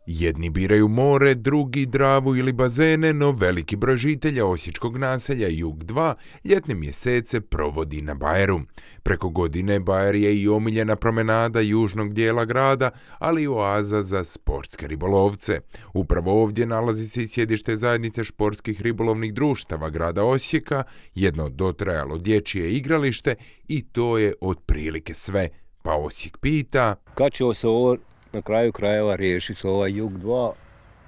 Jedni biraju more, drugi Dravu ili bazene, no veliki broj žitelja osječkog naselja Jug 2 ljetne mjesece provodi na Bajeru. Preko godine Bajer je i omiljena promenada južnog dijela grada, ali i oaza za sportske ribolovce. Upravo ovdje nalazi se i sjedište zajednice športskih ribolovnih društava grada Osijeka, jedno dotrajalo dječje igralište i to je otprilike sve. Pa Osijek pita: kad će se ovo na kraju krajeva riješiti ovaj Jug 2,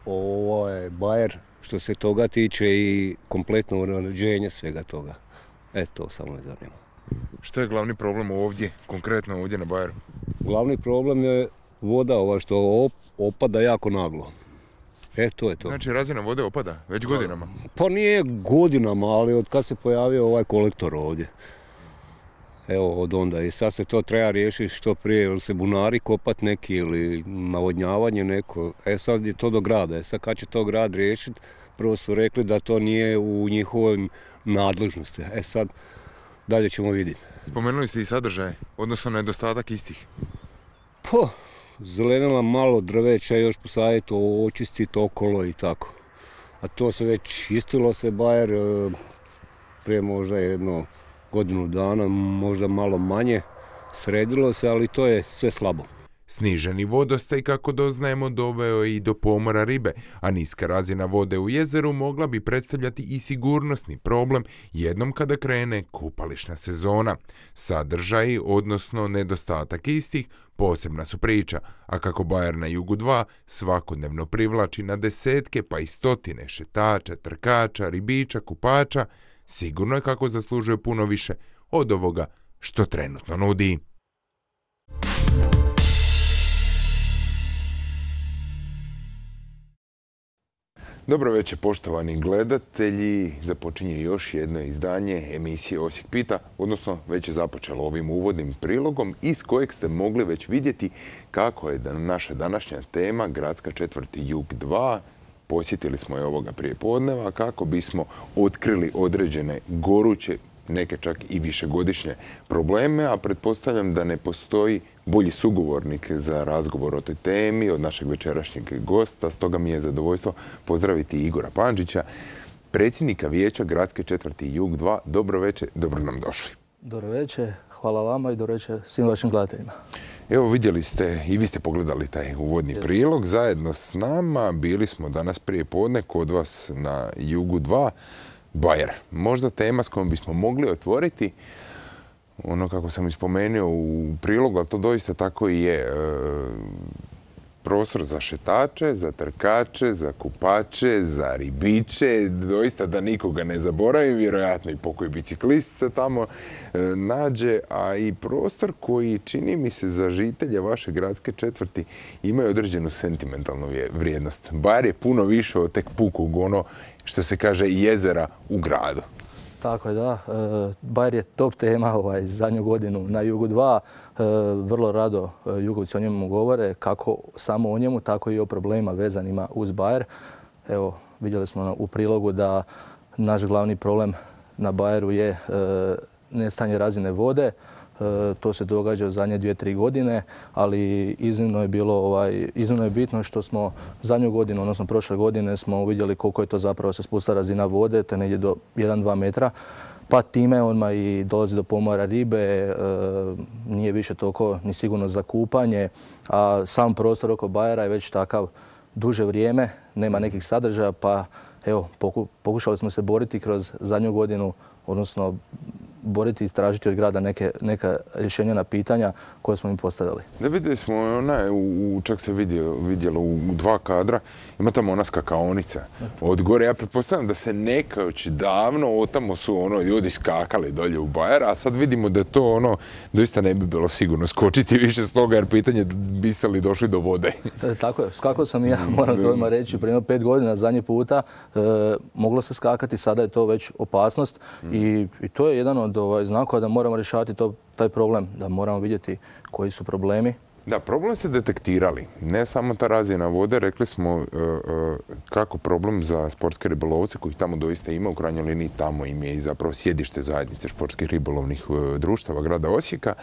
ovaj Bajer, što se toga tiče i kompletno uređenje svega toga. To samo me zanima. Što je glavni problem ovdje, konkretno ovdje na Bajeru? Glavni problem je voda što opada jako naglo. To je to. Znači razina vode opada već godinama? Pa nije godinama, ali od kad se pojavio ovaj kolektor ovdje. Od onda. I sad se to treba riješiti što prije, ili se bunari kopat neki ili navodnjavanje neko. Sad je to do grada. Sad kad će to grad riješiti, prvo su rekli da to nije u njihovoj nadležnosti. Sad dalje ćemo vidjeti. Spomenuli ste i sadržaje, odnosno nedostatak istih. Zelenila malo drveća, još posaditi, očistiti okolo i tako. A to se već čistilo se Bajer prije možda jedno godinu dana, možda malo manje, sredilo se, ali to je sve slabo. Sniženi vodostaj, kako doznajemo, doveo i do pomora ribe, a niska razina vode u jezeru mogla bi predstavljati i sigurnosni problem jednom kada krene kupališna sezona. Sadržaji, odnosno nedostatak istih, posebna su priča, a kako Bajer na Jugu 2 svakodnevno privlači na desetke pa i stotine šetača, trkača, ribiča, kupača, sigurno je kako zaslužuje puno više od ovoga što trenutno nudi. Dobro večer, poštovani gledatelji. Započinje još jedno izdanje emisije Osijek pita, odnosno već je započelo ovim uvodnim prilogom iz kojeg ste mogli već vidjeti kako je naša današnja tema gradska četvrti Jug 2. Posjetili smo je ovoga prijepodneva kako bismo otkrili određene goruće, neke čak i višegodišnje probleme, a pretpostavljam da ne postoji bolji sugovornik za razgovor o toj temi od našeg večerašnjeg gosta. Stoga mi je zadovoljstvo pozdraviti Igora Pandžića, predsjednika vijeća gradske četvrti Jug 2. Dobro večer, dobro nam došli. Dobro večer, hvala vama i dobro večer svim vašim gledateljima. Evo, vidjeli ste i vi ste pogledali taj uvodni prilog zajedno s nama. Bili smo danas prije podne kod vas na Jugu 2, Bajer. Možda tema s kojom bismo mogli otvoriti, ono kako sam ispomenuo u prilogu, ali to doista tako i je. Prostor za šetače, za trkače, za kupače, za ribiče, doista da nikoga ne zaboravim, vjerojatno i pokoji biciklist se tamo nađe, a i prostor koji čini mi se za žitelje vaše gradske četvrti imaju određenu sentimentalnu vrijednost. Bajer je puno više od tek pukog ono što se kaže jezera u gradu. Tako je, da. Bajer je top tema zadnju godinu na Jugu 2. Vrlo rado Jugovci o njemu govore, kako samo o njemu, tako i o problemima vezanima uz Bajer. Evo, vidjeli smo u prilogu da naš glavni problem na Bajeru je nestanje razine vode. To se događa u zadnje 2-3 godine, ali iznimno je bitno što smo zadnju godinu, odnosno prošle godine, smo vidjeli koliko je to zapravo se spustila razina vode, te negdje do 1-2 metra. Pa time odmah i dolazi do pomora ribe, nije više toliko ni sigurno za kupanje, a sam prostor oko Bajera je već takav duže vrijeme, nema nekih sadržaja, pa evo, pokušali smo se boriti kroz zadnju godinu, odnosno boriti i tražiti od grada neka rješenja na pitanja koje smo im postavili. Da, vidjeli smo, čak se vidjelo u 2 kadra, ima tamo ona skakaonica od gore. Ja pretpostavljam da se nekaoć davno otamo su ljudi skakali dolje u Bayer, a sad vidimo da to doista ne bi bilo sigurno skočiti više s toga, jer pitanje biste li došli do vode. Tako je, skakao sam i ja, moram to odmah reći, prije 5 godina, zadnji puta, moglo se skakati, sada je to već opasnost i to je jedan od znakova da moramo rješavati taj problem, da moramo vidjeti koji su problemi. Da, problem se detektirali. Ne samo ta razina vode, rekli smo kako problem za sportske ribolovce, kojih tamo doista ima, u krajnjoj liniji tamo im je i zapravo sjedište zajednice športskih ribolovnih društava grada Osijeka.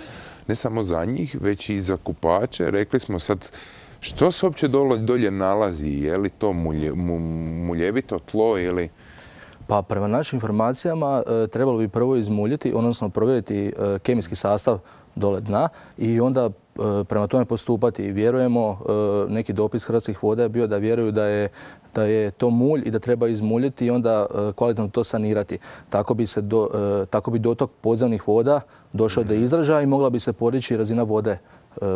Ne samo za njih, već i za kupače. Rekli smo sad, što se uopće dolje nalazi? Je li to muljevito tlo ili... Pa prema našim informacijama trebalo bi prvo izmuljiti, odnosno provjeriti kemijski sastav dole dna i onda prema tome postupati. Vjerujemo, neki dopis Hrvatskih voda je bio da vjeruju da je to mulj i da treba izmuljiti i onda kvalitetno to sanirati. Tako bi dotok podzemnih voda došao do izražaja i mogla bi se podići razina vode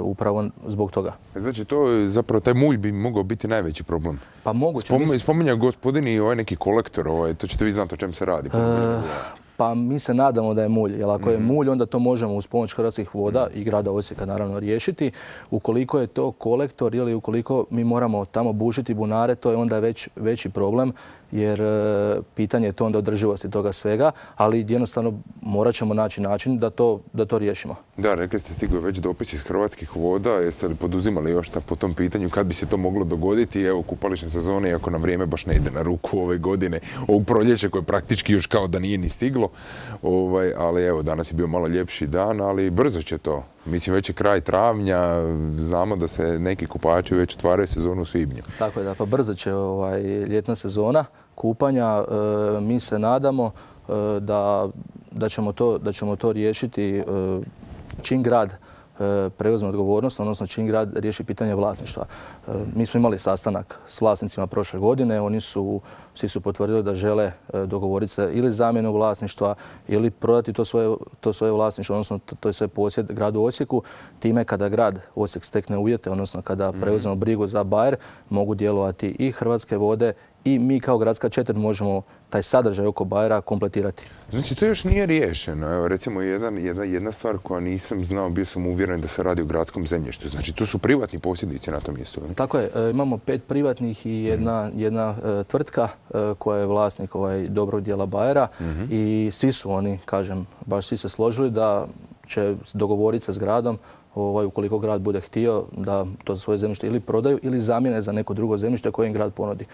upravo zbog toga. Znači, zapravo taj mulj bi mogao biti najveći problem. Pa moguće. Spominja gospodin i neki kolektor, to ćete vi znati o čem se radi. Pa mi se nadamo da je mulj, jer ako je mulj, onda to možemo uz pomoć Hrvatskih voda i grada Osijeka naravno riješiti. Ukoliko je to kolektor ili ukoliko mi moramo tamo bušiti bunare, to je onda veći problem, jer pitanje je to onda održivosti toga svega, ali jednostavno morat ćemo naći način da to riješimo. Da, rekli ste, stigao već dopis iz Hrvatskih voda. Jeste li poduzimali još po tom pitanju kad bi se to moglo dogoditi? Evo, kupališne sezone, iako nam vrijeme baš ne ide na ruku ove godine, ovog proljeća koje praktički još kao da nije ni stiglo. Ali evo, danas je bio malo ljepši dan, ali brzo će to. Mislim, već je kraj travnja, znamo da se neki kupači već otvaraju sezonu u svibnju. Tako je, da, pa brzo će ljetna sezona kupanja. Mi se nadamo da ćemo to riješiti čim grad preuzme odgovornost, odnosno čim grad riješi pitanje vlasništva. Mi smo imali sastanak s vlasnicima prošle godine, svi su potvrdili da žele dogovoriti se ili zamjenu vlasništva ili prodati to svoje vlasništvo, odnosno to je sve posjed gradu Osijeku. Time kada grad Osijek stekne uvjete, odnosno kada preuzmemo brigu za Bayer, mogu djelovati i Hrvatske vode i mi kao gradska četvrt možemo taj sadržaj oko Bayera kompletirati. Znači, to još nije riješeno. Evo, recimo, jedna stvar koja nisam znao, bio sam uvjeren da se radi o gradskom zemljištu. Znači, to su privatni posjednici na tom mjestu. Tako je. Imamo 5 privatnih i jedna tvrtka koja je vlasnik dobrog dijela Bayera i svi su oni, kažem, baš svi se složili da će dogovoriti se s gradom ukoliko grad bude htio da to svoje zemljište ili prodaju ili zamijene za neko drugo zemljište koje im grad ponudi.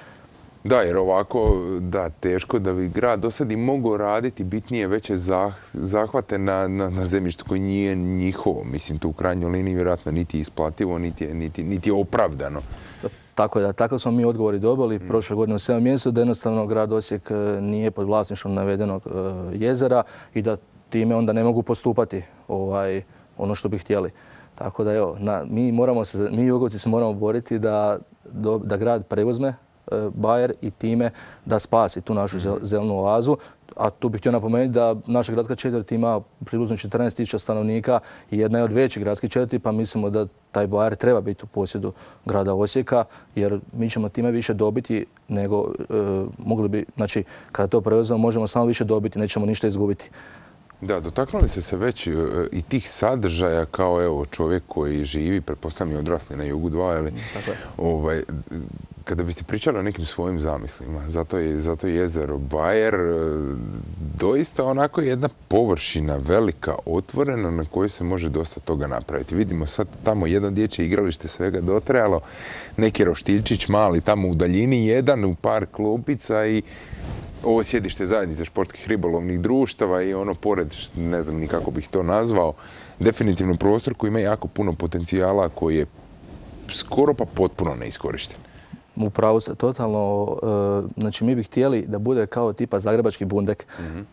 Da, jer ovako, da, teško da bi grad do sad i mogao raditi bitnije veće zahvate na zemljištu koji nije njihovo. Mislim, to u krajnjoj liniji vjerojatno niti je isplativo, niti je opravdano. Tako je, da. Takav smo mi odgovori dobili prošle godine u 7 mjesecu, da jednostavno grad Osijek nije pod vlasništvom navedenog jezera i da time onda ne mogu postupati ono što bi htjeli. Tako da evo, mi Jugovci se moramo boriti da grad preuzme Bayer i time da spasi tu našu zelenu oazu. A tu bih htio napomenuti da naša gradska četvrt ima približno 14.000 stanovnika i jedna je od većih gradskih četvrti, pa mislimo da taj Bayer treba biti u posjedu grada Osijeka, jer mi ćemo time više dobiti nego mogli bi, znači kada to preuzmemo možemo samo više dobiti, nećemo ništa izgubiti. Da, dotaknuli ste se već i tih sadržaja kao evo čovjek koji živi, pretpostavljam i odrasli na Jugu 2, ili kada biste pričali o nekim svojim zamislima, zato je jezero Bayer doista onako jedna površina velika, otvorena, na kojoj se može dosta toga napraviti. Vidimo sad tamo jedan dječje igralište svega dotrajalo, neki roštiljčić mali tamo u daljini, jedan u par klupica i ovo sjedište zajednice športskih ribolovnih društava i ono pored, ne znam ni kako bih to nazvao, definitivno prostor koji ima jako puno potencijala koji je skoro pa potpuno neiskorišten. Upravo ste totalno, znači mi bi htjeli da bude kao tipa Zagrebački Bundek,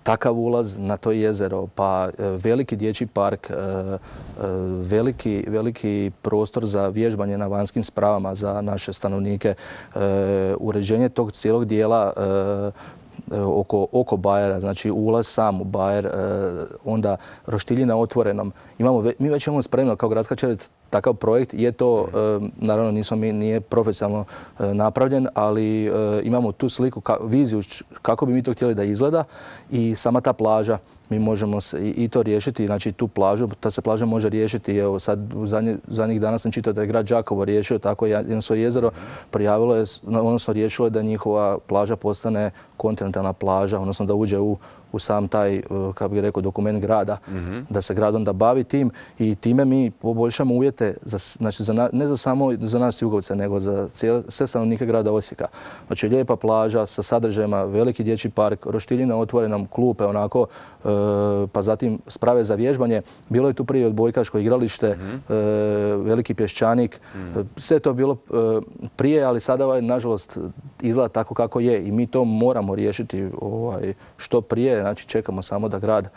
takav ulaz na to jezero, pa veliki dječji park, veliki prostor za vježbanje na vanjskim spravama za naše stanovnike, uređenje tog cijelog dijela oko Bajera, znači ulaz sam u Bajer, onda roštilji na otvorenom. Mi već imamo spremno kao gradska četvrt takav projekt. Je to, naravno nije profesionalno napravljen, ali imamo tu sliku, viziju kako bi mi to htjeli da izgleda i sama ta plaža. Mi možemo i to riješiti, znači tu plažu, ta se plaža može riješiti. Evo sad u zadnjih dana sam čitao da je grad Đakovo riješio tako jedno svoje jezero, prijavilo je, odnosno riješilo je da njihova plaža postane kontinentalna plaža, odnosno da uđe u sam taj, kako bih rekao, dokument grada, da se grad onda bavi tim i time mi poboljšamo uvjete, znači ne samo za nas Jugovce, nego za sve stanovnike grada Osijeka. Znači lijepa plaža sa sadržajima, veliki dječji park, roštilji na otvorenom, klupe onako, pa zatim sprave za vježbanje. Bilo je tu prije odbojkaško igralište, veliki pješčanik. Sve je to bilo prije, ali sada nažalost izgleda tako kako je i mi to moramo riješiti što prije. Znači čekamo samo da grad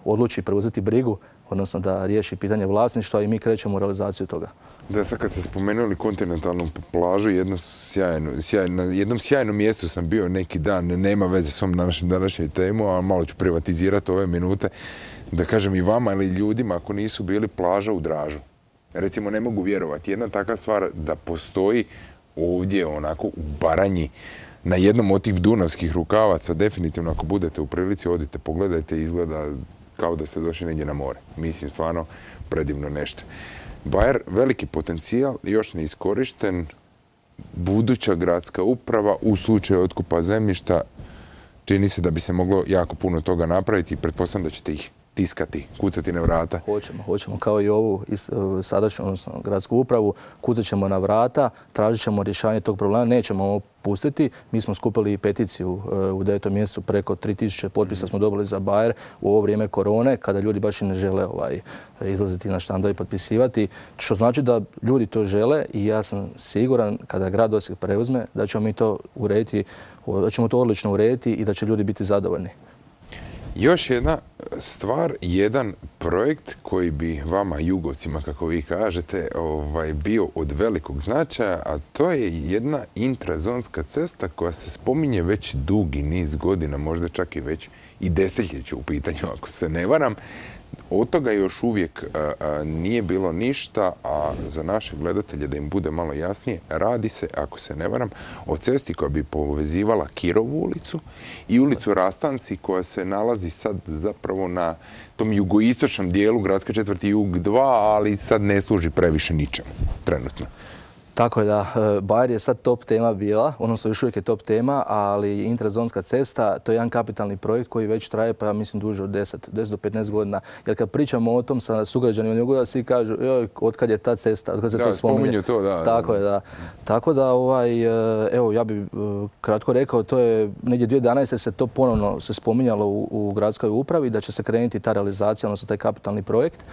odluči preuzeti brigu, odnosno da riješi pitanje vlasništva i mi krećemo u realizaciju toga. Da, sad kad ste spomenuli kontinentalnu plažu, na jednom sjajnom mjestu sam bio neki dan, nema veze s ovom današnjoj temu, a malo ću privatizirati ove minute, da kažem i vama ili ljudima ako nisu bili plaža u Dražu. Recimo, ne mogu vjerovati. Jedna takva stvar da postoji ovdje onako u Baranji, na jednom od tih dunavskih rukavaca, definitivno ako budete u prilici, odite, pogledajte, izgleda kao da ste došli negdje na more. Mislim, stvarno predivno nešto. Bajer, veliki potencijal, još ne iskorišten, buduća gradska uprava u slučaju otkupa zemljišta, čini se da bi se moglo jako puno toga napraviti i pretpostavljam da ćete ih tiskati, kucati na vrata. Hoćemo kao i ovu sadašnju, odnosno gradsku upravu, kucat ćemo na vrata, tražit ćemo rješavanje tog problema, nećemo ovo pustiti. Mi smo skupili i peticiju u 9. mjesecu, preko 3000 potpisa smo dobili za Bajer u ovo vrijeme korone, kada ljudi baš i ne žele izlaziti na štandove i potpisivati, što znači da ljudi to žele i ja sam siguran kada grad Osijek preuzme da ćemo mi to urediti, da ćemo to odlično urediti i da će ljudi biti zadovoljni. Još jedna stvar, jedan projekt koji bi vama, Jugovcima, kako vi kažete, bio od velikog značaja, a to je jedna intrazonska cesta koja se spominje već dugi niz godina, možda čak i već i desetljeće u pitanju, ako se ne varam. Od toga još uvijek nije bilo ništa, a za naše gledatelje, da im bude malo jasnije, radi se, ako se ne varam, o cesti koja bi povezivala Kirovu ulicu i ulicu Rastanci koja se nalazi sad zapravo na tom jugoistočnom dijelu gradske četvrti Jug 2, ali sad ne služi previše ničemu trenutno. Tako je da, Bajer je sad top tema bila, odnosno još uvijek je top tema, ali intrazonska cesta, to je jedan kapitalni projekt koji već traje, pa ja mislim duže od 10 do 15 godina. Jer kad pričamo o tom sa sugrađanima, da svi kažu, otkad je ta cesta, otkad se to spominje. Spominju to, da. Tako je, da. Tako da, evo, ja bih kratko rekao, to je negdje 2011. se to ponovno se spominjalo u gradskoj upravi, da će se krenuti ta realizacija, odnosno taj kapitalni projekt.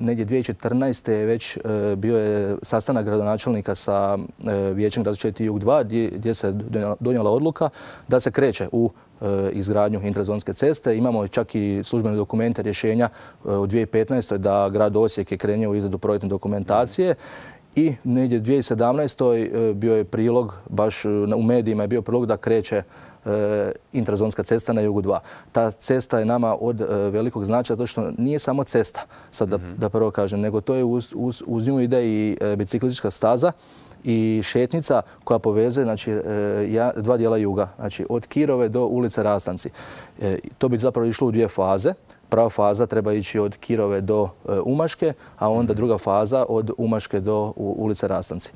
Negdje 2014. je već bio je sastanak gradonačelnika sa Vijećem gradske četvrti Jug 2 gdje se donijela odluka da se kreće u izgradnju intrazonske ceste. Imamo čak i službene dokumente rješenja u 2015. da grad Osijek je krenuo u izradu projektne dokumentacije. I negdje 2017. bio je prilog, baš u medijima je bio prilog da kreće intrazonska cesta na Jugu 2. Ta cesta je nama od velikog značaja zato što nije samo cesta, sad da prvo kažem, nego to je uz nju ide i biciklistička staza i šetnica koja povezuje dva dijela juga, znači od Kirove do ulice Rastanci. To bi zapravo išlo u dvije faze. Prva faza treba ići od Kirove do Umaške, a onda druga faza od Umaške do ulice Rastanci.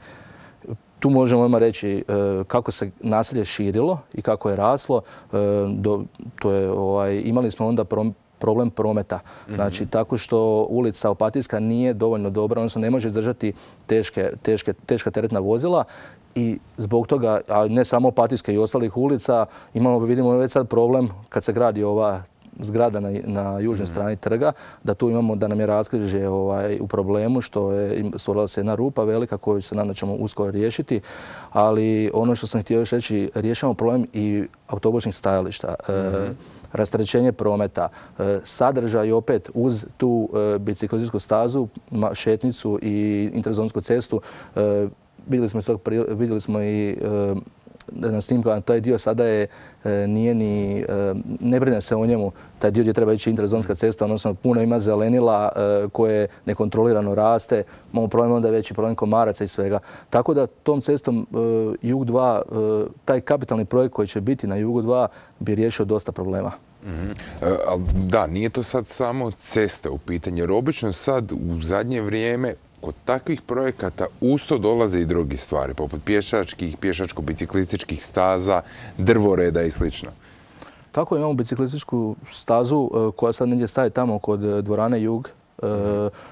Tu možemo odmah reći kako se naselje širilo i kako je raslo. Imali smo onda problem prometa. Znači, tako što ulica Opatijska nije dovoljno dobra, odnosno ne može izdržati teška teretna vozila i zbog toga, a ne samo Opatijske i ostalih ulica, vidimo već sad problem kad se gradi ova zgrada na južnoj strani trga, da tu imamo da nam je raskrižje u problemu, što je stvorila se jedna rupa velika koju se nadam da ćemo uskoro riješiti, ali ono što sam htio još reći, rješavamo problem i autobusnih stajališta, rasterećenje prometa, sadržaj opet uz tu biciklističku stazu, šetnicu i intrazonsku cestu. Vidjeli smo i na snimkama, taj dio sada je, nije ni, ne brine se o njemu, taj dio gdje treba ići interzonska cesta, odnosno puno ima zelenila koje nekontrolirano raste, imamo problem onda veći problem komaraca i svega. Tako da tom cestom Jug 2, taj kapitalni projekt koji će biti na Jugu 2 bi riješio dosta problema. Da, nije to sad samo cesta u pitanju, jer obično sad u zadnje vrijeme kod takvih projekata usto dolaze i drugi stvari, poput pješačkih, pješačko-biciklističkih staza, drvoreda i sl. Tako imamo biciklističku stazu koja sad negdje staje tamo kod dvorane Jug.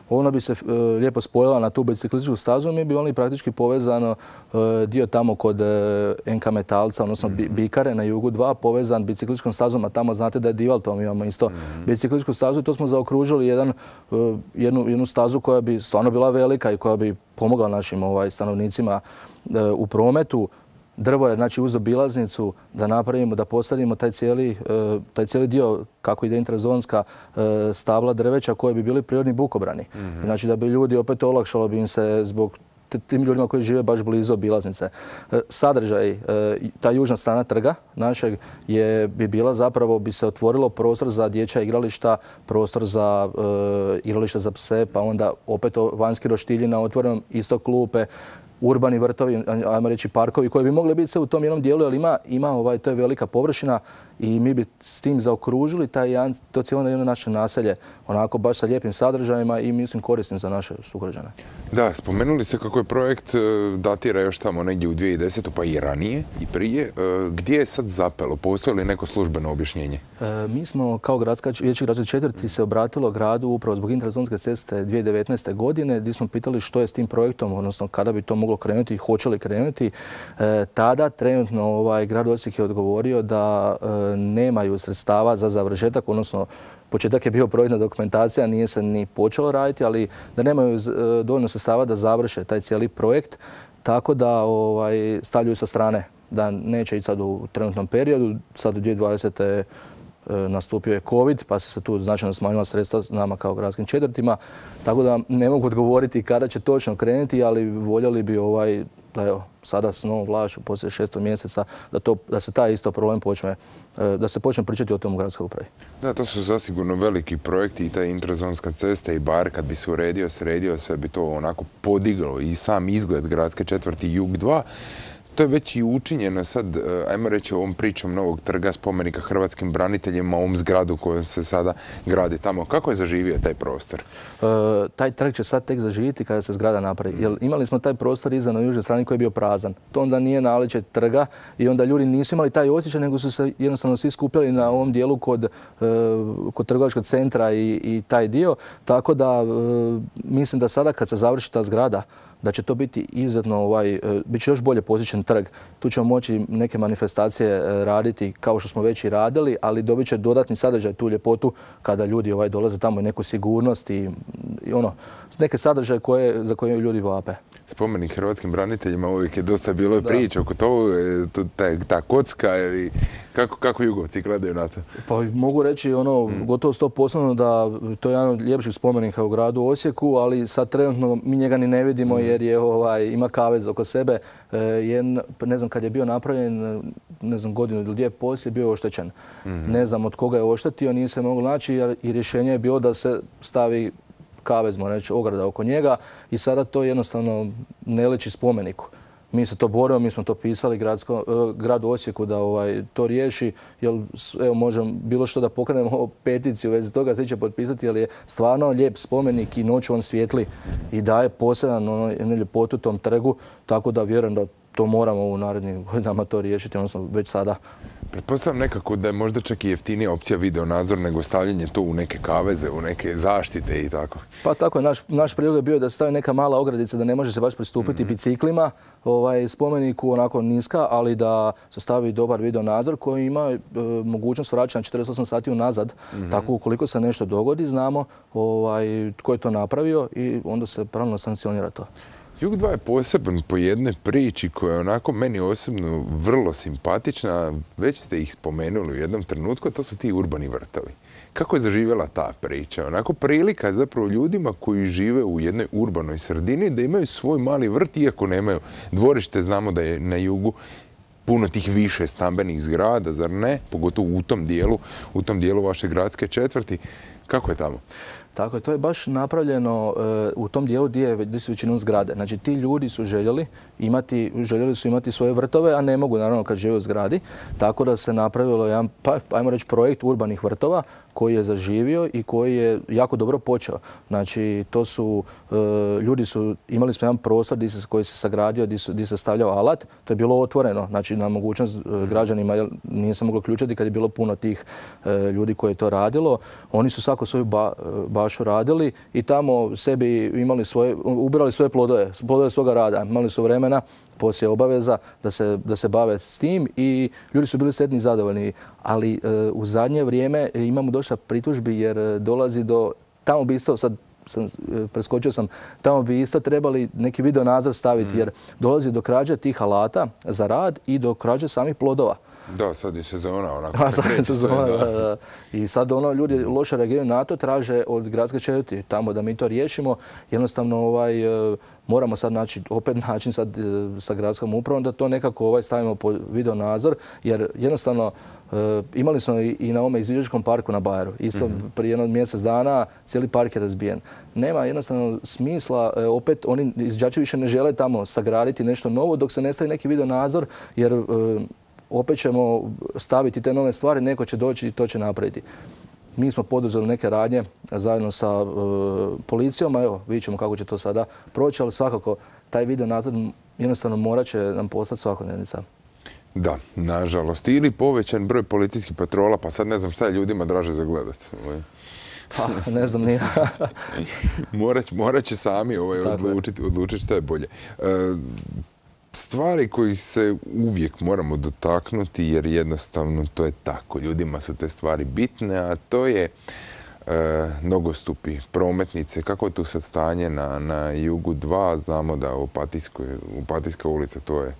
Ona bi se lijepo spojila na tu biciklističku stazu, mi bi oni praktički povezano dio tamo kod NK Metalca, odnosno Bikare na Jugu 2, povezan biciklističkom stazom, a tamo znate da je Divaltom, imamo isto biciklističku stazu i to smo zaokružili jednu stazu koja bi stvarno bila velika i koja bi pomogla našim stanovnicima u prometu. Drvored, znači uz obilaznicu, da napravimo, da postavimo taj cijeli dio, kako ide interzonska stabla drveća koje bi bili prirodni bukobrani. Znači da bi ljudi, opet olakšalo bi im se zbog tim ljudima koji žive baš blizu obilaznice. Sadržaj, ta južna strana trga našeg bi bila zapravo, bi se otvorilo prostor za dječja igrališta, prostor za igrališta za pse, pa onda opet vanjski roštilji na otvorenom, isto klupe, urbani vrtovi, ajmo reći parkovi koji bi mogli biti sve u tom jednom dijelu, ali to je velika površina i mi bi s tim zaokružili to cijelo jedno naše naselje, onako baš sa lijepim sadržajima i mislim korisnim za naše sugrađane. Da, spomenuli ste kako je projekt datira još tamo negdje u 2010. pa i ranije i prije. Gdje je sad zapelo? Postoji li neko službeno objašnjenje? Mi smo kao vijeće gradske četvrti se obratilo gradu upravo zbog interzonske ceste 2019. godine gdje smo pitali što je s tim projektom, odnosno kada bi to moglo krenuti i hoće li krenuti. Tada trenutno grad Osijek je odgovorio da nemaju sredstava za završetak, odnosno početak je bio projektna dokumentacija, nije se ni počelo raditi, ali da nemaju dovoljno sredstava da završe taj cijeli projekt, tako da stavljaju sa strane, da neće ići sad u trenutnom periodu. Sad u 2020. nastupio je COVID, pa se tu značajno smanjila sredstva nama kao gradskim četvrtima, tako da ne mogu odgovoriti kada će točno krenuti, ali voljeli bi da evo, sada s novom vlašću poslije 6. mjeseca da se taj isto problem počne, da se počne pričati o tom u gradskoj upravi. Da, to su zasigurno veliki projekti i ta interzonska cesta i bar kad bi se uredio, sredio, sve bi to onako podiglo i sam izgled gradske četvrti Jug 2. To je već i učinjeno sad, ajmo reći, ovom pričom novog trga spomenika hrvatskim braniteljima, ovom zgradu koja se sada gradi tamo. Kako je zaživio taj prostor? Taj trg će sad tek zaživjeti kada se zgrada napravi. Jer imali smo taj prostor iza na južnoj strani koji je bio prazan. To onda nije naličje trga i onda ljudi nisu imali taj osjećaj, nego su se jednostavno svi skupljali na ovom dijelu kod trgovačkog centra i taj dio. Tako da mislim da sada kad se završi ta zgrada, da će to biti izuzetno, bit će još bolje posjećen trg. Tu ćemo moći neke manifestacije raditi kao što smo već i radili, ali dobit će dodatni sadržaj, tu ljepotu kada ljudi dolaze tamo i neku sigurnost i neke sadržaje za koje ljudi vape. Spomenik hrvatskim braniteljima uvijek je dosta bilo priča oko toga, ta kocka, kako Jugovci gledaju na to? Pa mogu reći gotovo 100% da to je jedan od ljepših spomenika u gradu Osijeku, ali sad trenutno mi njega ni ne vidimo jer ima kavez oko sebe. Ne znam kad je bio napravljen, ne znam godinu ili dvije poslije, bio je oštećen. Ne znam od koga je oštetio, nije se moglo naći i rješenje je bilo da se stavi kavez, možemo reći, ograda oko njega i sada to jednostavno ne liči spomeniku. Mi se to borimo, mi smo to pisali gradu Osijeku da to riješi, jer evo možemo bilo što da pokrenemo peticiju u vezi toga, svi će potpisati, jer je stvarno lijep spomenik i noću on svijetli i daje poseban ljepotu tom trgu, tako da vjerujem da to moramo u narednim godinama to riješiti, odnosno već sada. Pretpostavljam nekako da je možda čak i jeftinija opcija videonadzor nego stavljanje to u neke kaveze, u neke zaštite i tako. Pa tako je, naš prijedlog je bio da se stavi neka mala ogradica, da ne može se baš pristupiti biciklima, spomeniku onako niska, ali da se stavi dobar videonadzor koji ima mogućnost vraćanja 48 sati unazad. Tako ukoliko se nešto dogodi, znamo tko je to napravio i onda se pravilno sankcionira to. Jug 2 je poseban po jednoj priči koja je onako meni osobno vrlo simpatična. Već ste ih spomenuli u jednom trenutku, a to su ti urbani vrtovi. Kako je zaživjela ta priča? Onako prilika zapravo ljudima koji žive u jednoj urbanoj sredini da imaju svoj mali vrt, iako nemaju dvorište, znamo da je na jugu. puno tih više stambenih zgrada, zar ne? Pogotovo u tom dijelu vaše gradske četvrti. Kako je tamo? Tako je, to je baš napravljeno u tom dijelu gdje su većinom zgrade. Znači, ti ljudi su željeli su imati svoje vrtove, a ne mogu naravno kad žive u zgradi. Tako da se napravilo jedan, ajmo reći, projekt urbanih vrtova koji je zaživio i koji je jako dobro počeo. Znači, to su, imali smo jedan prostor koji se sagradio, gdje se stavljao alat. To je bilo otvoreno, znači na mogućnost građanima, nije se moglo ključati kad je bilo puno tih ljudi koji je to radilo. Oni su svako svoju bašu radili i tamo sebi ubirali svoje plodove svoga rada. Imali su vremena poslije obaveza da se bave s tim i ljudi su bili sretni i zadovoljni. Ali u zadnje vrijeme imamo dosta pritužbi jer dolazi do, tamo bi isto, sad preskočio sam, tamo bi isto trebali neki video nadzor staviti jer dolazi do krađe tih alata za rad i do krađe samih plodova. Da, sad je sezona onako. Da. I sad ljudi loše reagiraju na to, traže od gradske četvrti tamo da mi to riješimo. Jednostavno moramo sad naći opet način sad sa gradskom upravom da to nekako stavimo pod video nadzor jer jednostavno imali smo i na ovome izviđačkom parku na Bajeru. Isto prije jedno mjesec dana cijeli park je razbijen. Nema jednostavno smisla, opet oni izviđači više ne žele tamo sagraditi nešto novo dok se ne stavi neki video nadzor jer opet ćemo staviti te nove stvari, neko će doći i to će napraviti. Mi smo poduzeli neke radnje zajedno sa policijom, a evo, vidjet ćemo kako će to sada proći, ali svakako taj video nadzor jednostavno morat će nam postati svakodnevnica. Da, nažalost. Ili povećan broj policijskih patrola, pa sad ne znam šta je ljudima draže za gledat. Pa, ne znam ni. Morat će sami odlučiti šta je bolje. Stvari koji se uvijek moramo dotaknuti jer jednostavno to je tako. Ljudima su te stvari bitne, a to je nogostupi, prometnice. Kako je tu sad stanje na Jugu 2? Znamo da Opatijska ulica to je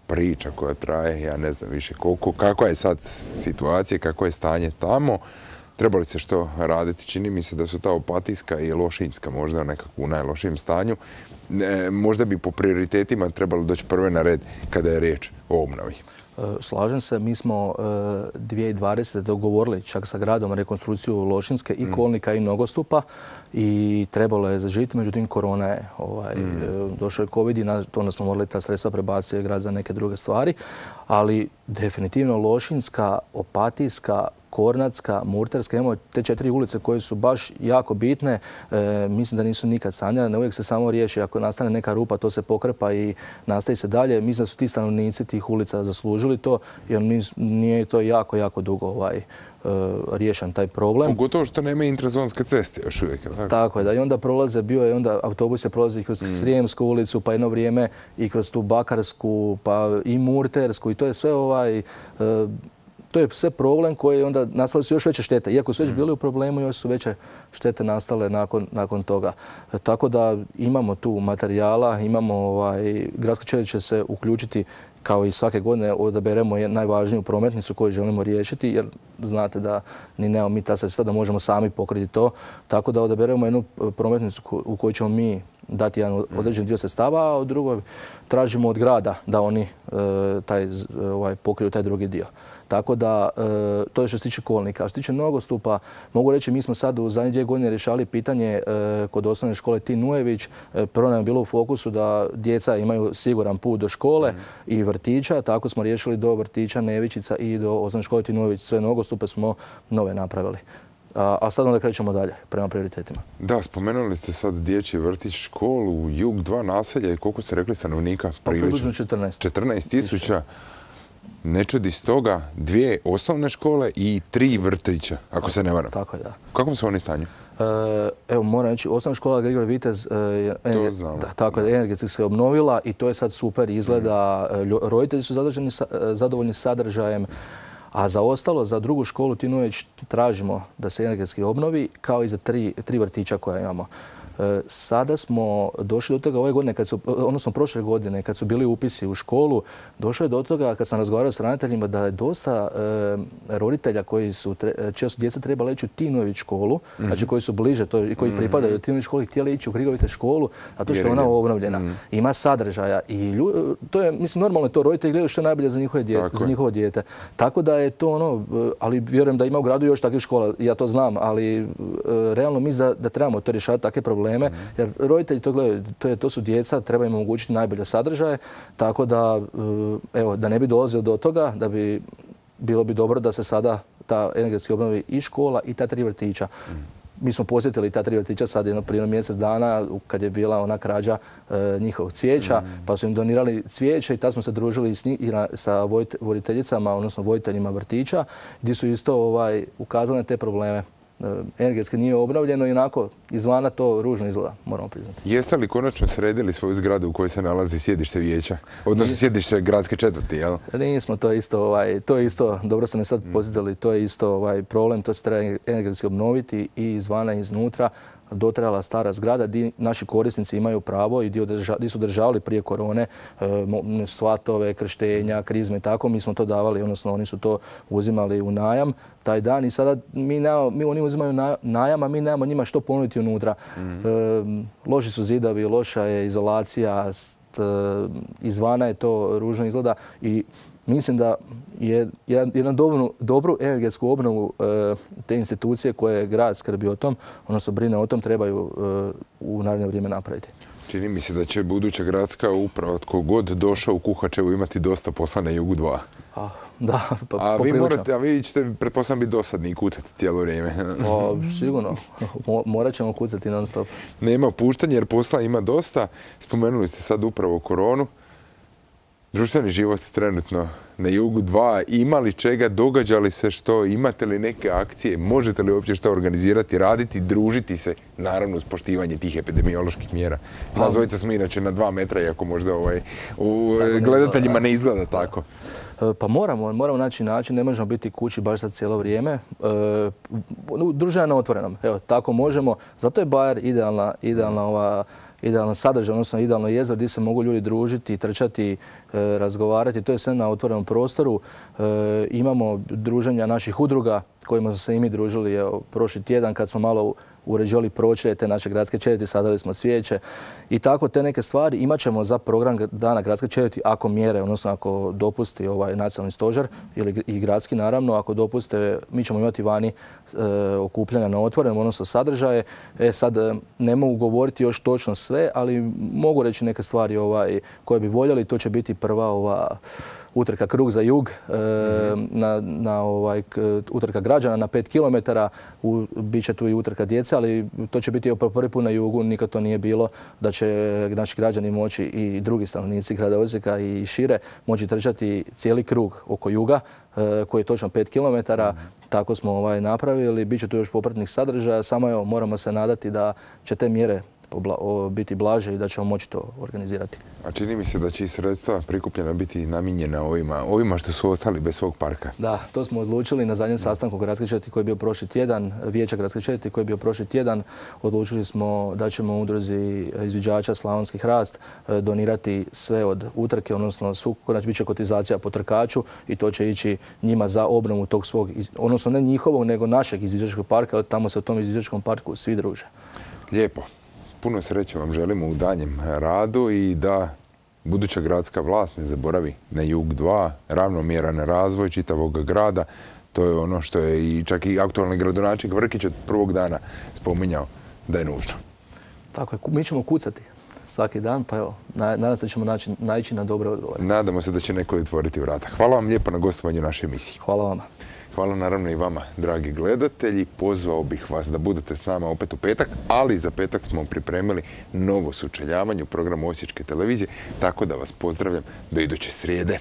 priča koja traje, ja ne znam više kakva je sad situacija, kako je stanje tamo. Treba li se što raditi? Čini mi se da su ta Opatijska i Lošinjska možda nekako u najlošijem stanju. Možda bi po prioritetima trebalo doći prve na red kada je riječ o obnovi. Slažem se, mi smo 2020. dogovorili čak sa gradom rekonstrukciju Lošinjske i kolnika i nogostupa i trebalo je zaživjeti, međutim korona je došao je COVID i onda smo morali ta sredstva prebaciti grad za neke druge stvari, ali definitivno Lošinjska, Opatijska, Kornatska, Murterska, imamo te 4 ulice koje su baš jako bitne. Mislim da nisu nikad sanjane, uvijek se samo riješi. Ako nastane neka rupa, to se pokrpa i nastavi se dalje. Mislim da su ti stanovnici tih ulica zaslužili to, jer nije to jako, jako dugo riješen taj problem. Pogotovo što nema intrazonske ceste još uvijek. Tako je, da i onda autobus je prolazi kroz Srijemsku ulicu, pa jedno vrijeme i kroz tu Bakarsku, pa i Murtersku i to je sve to je sve problem koji onda nastale su još veće štete. Iako su već bili u problemu, još su veće štete nastale nakon toga. Tako da imamo tu materijala, gradska četvrt će se uključiti kao i svake godine odaberemo najvažniju prometnicu koju želimo riješiti, jer znate da ni nemamo mi ta sredstva da možemo sami pokriti to. Tako da odaberemo jednu prometnicu u kojoj ćemo mi dati jedan određen dio sredstava, a od drugoj tražimo od grada da oni pokriju taj drugi dio. Tako da, to je što se tiče kolnika. Što se tiče nogostupa, mogu reći, mi smo sad u zadnje 2 godine rješavali pitanje kod osnovne škole Tin Ujević. Prvo nam je bilo u fokusu da djeca imaju siguran put do škole i vrtića. Tako smo riješili do vrtića Nevičica i do osnovne škole Tin Ujević. Sve nogostupe smo nove napravili. A sad onda krećemo dalje prema prioritetima. Da, spomenuli ste sad dječji vrtić, školu, Jug 2 naselja i koliko ste rekli stanovnika? Približno 14. 14.000. Ne čudi stoga 2 osnovne škole i 3 vrtića, ako se ne varam. Tako je, da. U kakvom su oni stanju? Evo, moram reći, osnovna škola Grigor Vitez energetski se obnovila i to je sad super izgleda. Roditelji su zadovoljni sadržajem, a za ostalo, za drugu školu Tin Ujević tražimo da se energetski obnovi, kao i za 3 vrtića koja imamo. Sada smo došli do toga ove godine, odnosno prošle godine, kad su bili upisi u školu, došlo je do toga, kad sam razgovarao s ravnateljima, da je dosta roditelja čija su djeca trebala ići u Tinović školu, znači koji su bliže i koji pripadaju Tinović školi, htjeli ići u Krigovite školu, a to što je ona obnovljena. Ima sadržaja i to je, mislim, normalno je to, roditelji gledaju što je najbolje za njihovo dijete. Tako da je to ono, ali vjerujem da ima u gradu još takvih škola, ja to znam, ali realno mislim da trebamo to rješavati takve probleme, jer roditelji to gledaju, to su djeca, treba im omogućiti najbolje sadržaje, tako da, evo, da ne bi dolazilo do toga, bilo bi dobro da se sada ta energetski obnovi i škola i ta 3 vrtića. Mi smo posjetili ta 3 vrtića sad prije mjesec dana kad je bila ona krađa njihovog cvijeća, pa su im donirali cvijeće i tad smo se družili sa voditeljicama, odnosno voditeljima vrtića, gdje su isto ukazali na te probleme. Energetski nije obnovljeno i onako izvana to ružno izgleda, moramo priznati. Jeste li konačno sredili svoju zgradu u kojoj se nalazi sjedište vijeća? Odnosno sjedište gradske četvrti, jel? Nismo, to je isto, dobro ste me sad posjetili, to je isto problem, to se treba energetski obnoviti i izvana i iznutra. Dotrajala stara zgrada gdje naši korisnici imaju pravo i gdje su državali prije korone svatove, krštenja, krizme i tako. Mi smo to davali, odnosno oni su to uzimali u najam taj dan i sada oni uzimaju najam, a mi nemamo njima što ponuditi unutra. Loši su zidovi, loša je izolacija, izvana je to ružno izgleda i mislim da je jednu dobru energetsku obnovu te institucije koje grad skrbi o tom, odnosno brine o tom, trebaju u naredno vrijeme napraviti. Čini mi se da će buduća gradska uprava, tko god došao u Kuhačevu, imati dosta posla na Jugu 2. Da, poprilično. A vi ćete, pretpostavljam, biti dosadni i kucati cijelo vrijeme. Sigurno. Morat ćemo kucati non stop. Nema opuštanja jer posla ima dosta. Spomenuli ste sad upravo koronu. Društveni život trenutno na Jugu 2. Ima li čega? Događa li se što? Imate li neke akcije? Možete li uopće što organizirati, raditi, družiti se? Naravno uz poštivanje tih epidemioloških mjera. Nas dvojica smo inače na 2 metra, iako možda gledateljima ne izgleda tako. Pa moramo naći način, ne možemo biti kući baš sad cijelo vrijeme. Druženje na otvorenom, evo, tako možemo. Zato je Bajer idealan sadržaj, odnosno idealno jezero gdje se mogu ljudi družiti, trčati, razgovarati. To je sve na otvorenom prostoru. Imamo druženja naših udruga kojima smo se i mi družili prošli tjedan kad smo malo uređivali pročelje te naše gradske četvrti, sadali smo cvijeće i tako te neke stvari. Imat ćemo za program dana gradske četvrti ako mjere, odnosno ako dopusti nacionalni stožer ili i gradski naravno, ako dopuste, mi ćemo imati vani okupljanja na otvorenom, odnosno sadržaje. Sad ne mogu govoriti još točno sve, ali mogu reći neke stvari koje bi voljeli. To će biti prva utrka Krug za jug, utrka građana na 5 km, bit tu i utrka djece, ali to će biti prvi put na jugu, nikad to nije bilo, da će naši građani moći i drugi stanovnici grada Osijeka i šire moći trčati cijeli krug oko juga, koji je točno 5 km. Tako smo napravili, bit će tu još popratnih sadržaja, samo moramo se nadati da će te mjere biti blaže i da ćemo moći to organizirati. A čini mi se da će i sredstva prikupljena biti namijenjena ovima što su ostali bez svog parka. Da, to smo odlučili na zadnjem sastanku gradske četvrti koji je bio prošli tjedan, vijeća gradske četvrti koji je bio prošli tjedan. Odlučili smo da ćemo udruzi izviđača Slavonski hrast donirati sve od utrke, odnosno konačno bit će kotizacija po trkaču i to će ići njima za obnovu tog svog, odnosno ne njihovog, nego našeg izviđačkog parka, ali tamo se u tom izviđačkom parku svi druže. Lijepo. Puno sreće vam želimo u danjem radu i da buduća gradska vlast ne zaboravi na Jug 2, ravnomjeran razvoj čitavog grada. To je ono što je i čak i aktualni gradonačelnik Vrkić od prvog dana spominjao da je nužno. Tako je, mi ćemo kucati svaki dan, pa evo, nadam se da ćemo naići na dobre odgovore. Nadamo se da će neko otvoriti vrata. Hvala vam lijepo na gostovanju u našoj emisiji. Hvala vama. Hvala naravno i vama, dragi gledatelji. Pozvao bih vas da budete s nama opet u petak, ali za petak smo pripremili novo sučeljavanje u programu Osječke televizije, tako da vas pozdravljam do iduće srijede.